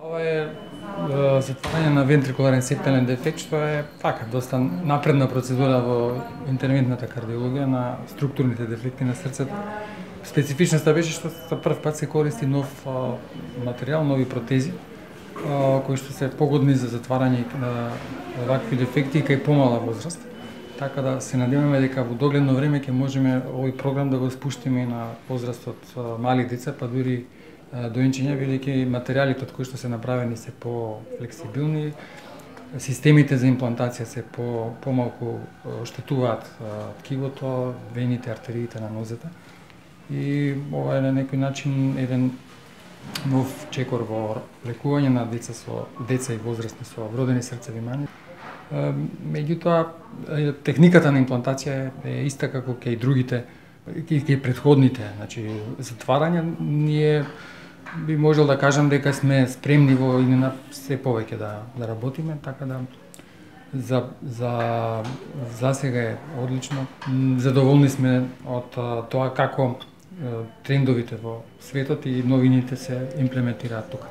Ова е затварање на вентрикуларен септален дефект, што е така доста напредна процедура во интервентната кардиологија на структурните дефекти на срцето. Специфичноста беше што за прв пат се користи нов материјал, нови протези, кои што се погодни за затварање на вакви дефекти кај помала возраст. Така да се надеваме дека во догледно време ќе можеме овој програм да го спуштиме на возраст од мали деца, па дури доенчиња, бидејќи материјалите од кои што се направени се по-флексибилни, системите за имплантација се помалку оштетуваат ткивото, вените, артериите на нозете. И ова е на некој начин еден нов чекор во лекување на деца и возрастни со вродени срцеви мани. Меѓутоа, техниката на имплантација е иста како кај другите, кај претходните, значи затварање, ние би можел да кажам дека сме спремни во иднина се повеќе да работиме, така да за сега е одлично. Задоволни сме од тоа како трендовите во светот и новините се имплементираат тука.